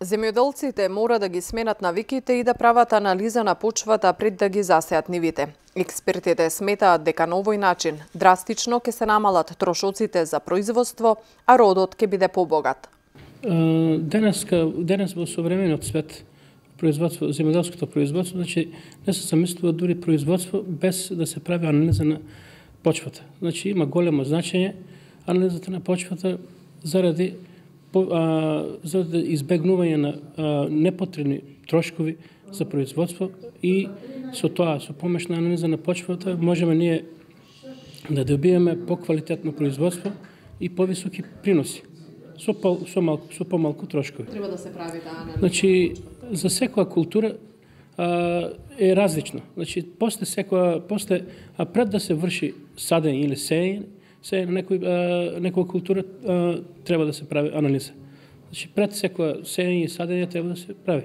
Земјоделците мора да ги сменат навиките и да прават анализа на почвата пред да ги засеат нивите. Експертите сметаат дека на овој начин драстично ќе се намалат трошоците за производство, а родот ќе биде побогат. Денес во современиот свет земјоделското производство, значи не се замислува дури производство без да се прави анализа на почвата. Значи има големо значење анализата на почвата заради избегнување на непотребни трошкови за производство и со тоа, со помош на анализа на почвата, можеме ние да добиеме поквалитетно производство и повисоки приноси со помалку трошкови. Треба да се прави таа анализа. Значи, за секоја култура е различно. Значи, после пред да се врши садење или сеење на некоја култура треба да се прави анализа. Значи, пред секоја сеење и садење треба да се прави.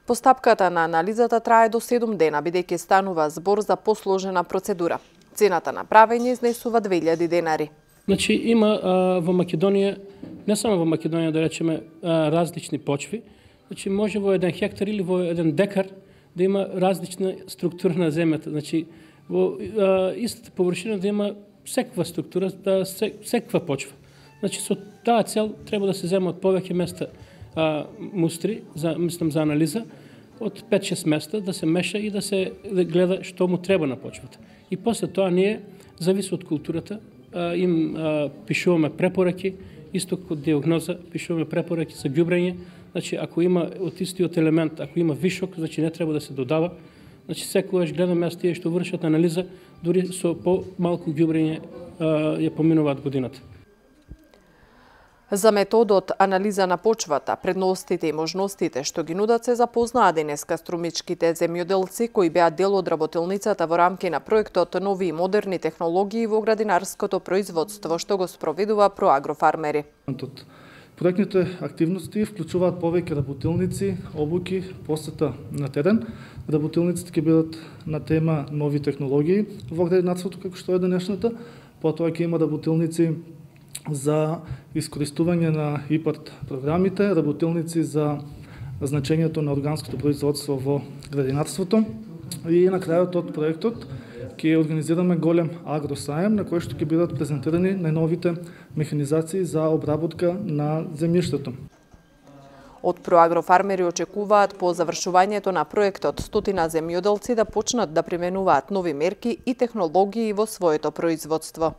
Постапката на анализата трае до 7 дена, бидејќи станува збор за посложена процедура. Цената на правење изнесува 2000 денари. Значи, има во Македонија, не само во Македонија, да речеме, различни почви. Значи, може во 1 хектар или во 1 декар да има различна структура на земјата. Значи, во истата површина да има секаква структура, секаква почва. Значи, со таа цел треба да се земат повеќе места мустри, за анализа, од 5-6 места да се меша и да се гледа што му треба на почвата. И после тоа ние, зависи од културата, им пишуваме препораки, исто како диагноза, пишуваме препораки за ѓубрење. Значи, ако има од истиот елемент, ако има вишок, значи не треба да се додава. Значи, секогаш гледаме тие што вршат анализа, дури со по-малку ѓубрење ја поминуваат годината. За методот анализа на почвата, предностите и можностите што ги нудат се запознаа денеска струмичките земјоделци кои беа дел од работилницата во рамки на проектот Нови и модерни технологии во градинарското производство што го спроведува Проагрофармери. Проектните активности вклучуваат повеќе работилници, обуки, посета на терен. Работилниците ќе бидат на тема нови технологии во градинарството како што е денешната. Потоа ќе има работилници за искористување на ИПАРТ програмите, работилници за значењето на органското производство во градинарството и на крајот од проектот ќе организираме голем агросаем на кој што ќе бидат презентирани најновите механизации за обработка на земјиштето. Од Проагрофармери очекуваат по завршувањето на проектот 100 земјоделци да почнат да применуваат нови мерки и технологии во своето производство.